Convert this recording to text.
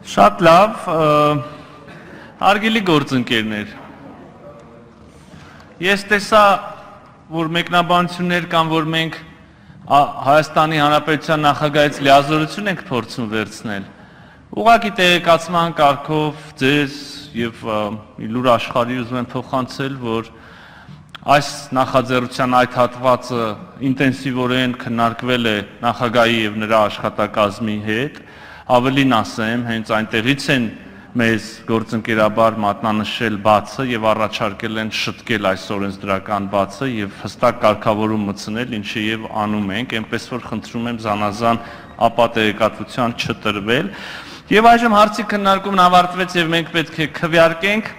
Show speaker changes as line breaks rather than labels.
Շատ լավ, հարգելի գործընկերներ, ես տեսա, որ մեկնաբանություններ կամ որ մենք Հայաստանի Հանրապետության նախագահից լիազորություն ենք փորձում վերցնել, ուղղակի տեղեկացման կարգով ձեզ եւ լուր աշխարհի ուզում եմ փոխանցել, որ այս նախաձեռնության այդ հատվածը ինտենսիվորեն քննարկվել է նախագահի եւ նրա աշխատակազմի հետ, ավելին ասեմ, հենց այնտեղից են մեզ գործընկերաբար մատնանշել բացը եւ առաջարկել են շտկել այս օրենսդրական բացը եւ հստակ կարգավորում մտցնել, ինչը եւ անում ենք, այնպես որ խնդրում եմ զանազան ապատեգատվության չտրվել։ Եվ այժմ հարցի քննարկումն ավարտվեց եւ մենք պետք է քվեարկենք